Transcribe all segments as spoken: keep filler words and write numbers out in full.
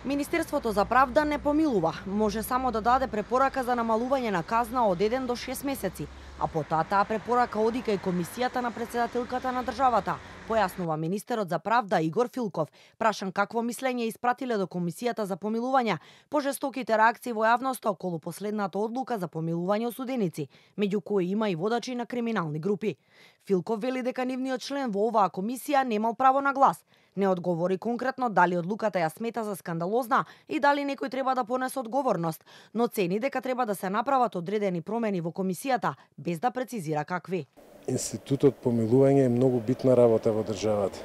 Министерството за правда не помилува, може само да даде препорака за намалување на казна од еден до шест месеци, а потоа таа препорака оди кај комисијата на претседателката на државата, појаснува министерот за правда Игор Филков, прашан какво мислење испратиле до комисијата за помилување по жестоките реакции во јавноста околу последната одлука за помилување осуденици, меѓу кои има и водачи на криминални групи. Филков вели дека нивниот член во оваа комисија немал право на глас. Не одговори конкретно дали одлуката ја смета за скандалозна и дали некој треба да понесе одговорност, но цени дека треба да се направат одредени промени во комисијата, без да прецизира какви. Институтот помилување е многу битна работа во државата.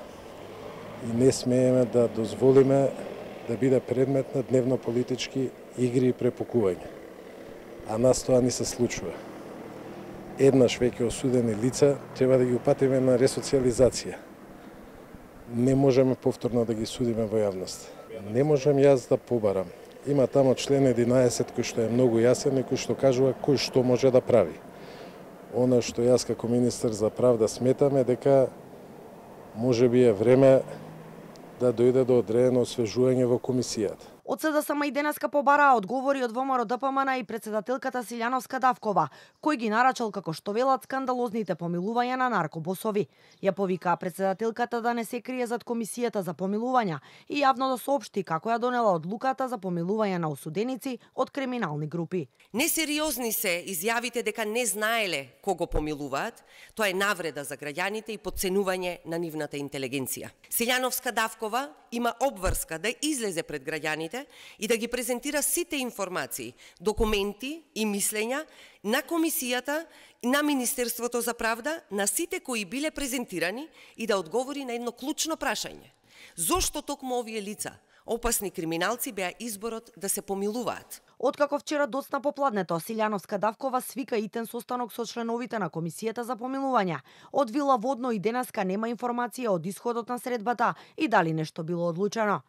И не смееме да дозволиме да биде предмет на дневно-политички игри и препукување. А нас тоа ни се случува. Еднаш веќе осудени лица треба да ги упатиме на ресоциализација. Не можеме повторно да ги судиме во јавност. Не можем јас да побарам. Има тамо член единаесет кој што е многу јасен и кој што кажува кој што може да прави. Она што јас како министер за правда сметам е дека можеби е време да дојде до одредено освежување во комисијата. Од СДСМ и денеска побараа одговори од ВМРО ДПМН и претседателката Силјановска Давкова, кој ги нарачал како што велат скандалозните помилувања на наркобосови. Ја повикаа претседателката да не се крие зад комисијата за помилувања и јавно да соопшти како ја донела одлуката за помилување на осуденици од криминални групи. Несериозни се изјавите дека не знаеле кого помилуваат, тоа е навреда за граѓаните и потценување на нивната интелигенција. Силјановска Давкова има обврска да излезе пред граѓаните и да ги презентира сите информации, документи и мислења на комисијата и на Министерството за правда, на сите кои биле презентирани и да одговори на едно клучно прашање. Зошто токму овие лица, опасни криминалци, беа изборот да се помилуваат? Откако вчера доцна попладнето, Силјановска Давкова свика итен состанок со членовите на комисијата за помилување. Од Вила Водно и денеска нема информација од исходот на средбата и дали нешто било одлучено.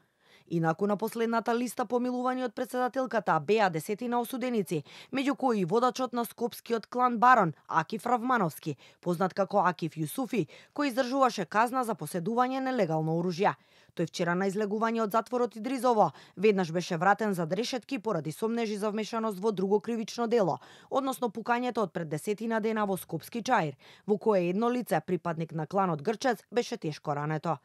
Инаку на последната листа помилување од претседателката беа десетина осуденици, меѓу кои и водачот на скопскиот клан барон Акиф Равмановски, познат како Акиф Јусуфи, кој издржуваше казна за поседување нелегално оружје. Тој вчера на излегување од затворот Идризово веднаш беше вратен за решетки поради сомнежи за вмешаност во друго кривично дело, односно пукањето од пред десетина дена во Скопски Чаир, во кое едно лице, припадник на кланот Грчец, беше тешко рането.